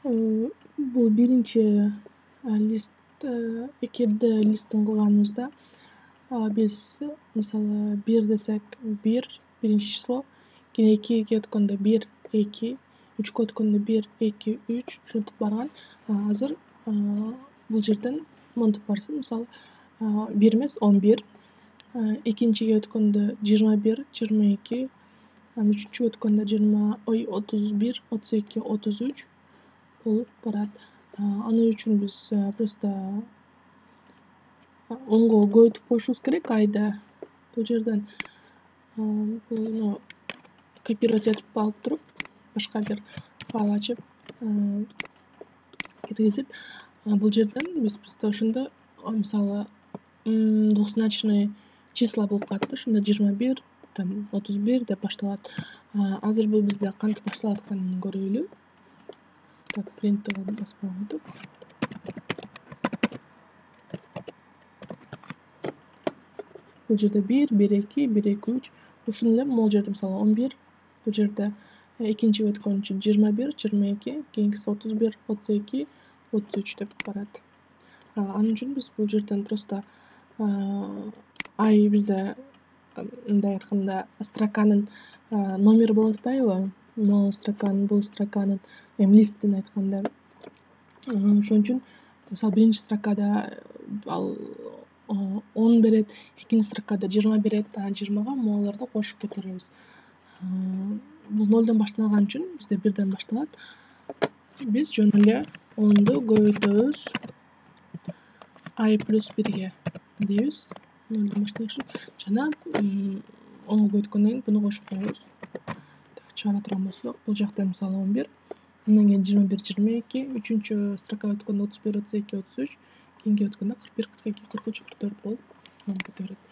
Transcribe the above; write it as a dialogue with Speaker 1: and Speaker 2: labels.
Speaker 1: Бул биринчи лист, 2D листтин кылганыбызда биз мисалы 1 десек 1 биринчи число, кийин 2ге өткөндө 1 2, 3кө өткөндө 1 2 3 ушинтип барган. Азыр бул жерден монтип барсын, мисалы 1 эмес 11, экинчиге өткөндө 21 22, үчүнчүгө өткөндө 31 32 33 болуп барат. Анын үчүн биз просто онго көбөйтүп коюшубуз керек айды. Бул жерден буну копировать этип алып туруп, башка бир файл ачып, киргизип, бул жерден биз просто ошондо мисалы двузначный числа болуп калат да, ошондо 21 там 31 деп башталат. Азыр бул бизде кантип башталат атканын көрөлү. Так, принт баспагантып. Бул жерде 1 1 2 1 2 3. Ушуну эле могул жерде мисалы 11, бул жерде экинчиге өткөнчө 21 22, кийинкиси 31 32 33 деп барат. Анын үчүн биз бул жерден просто ай бизде мындай айтканда строканын номери болуп атпайбы? Могул строканын, бул строканын, эми листтин айтканда. Ошон үчүн мисалы биринчи строкада ал 10 берет, экинчи строкада 20 берет, 20га могуларды кошуп кетиребиз. Бул 0дон башталган үчүн бизде 1ден башталат. Биз жөн эле 10ду көбөйтөбүз ай плюс 1ге дейбиз. 0дон башталышы жана 10го көбөйткөндөн кийин буну кошуп коебуз. Чыгара турган болсок, бул жакта мисалы 11, андан кийин 21 22, үчүнчү строкага өткөндө 31 32 33, кийинки өткөндө 41 42 43 44 болуп кете берет.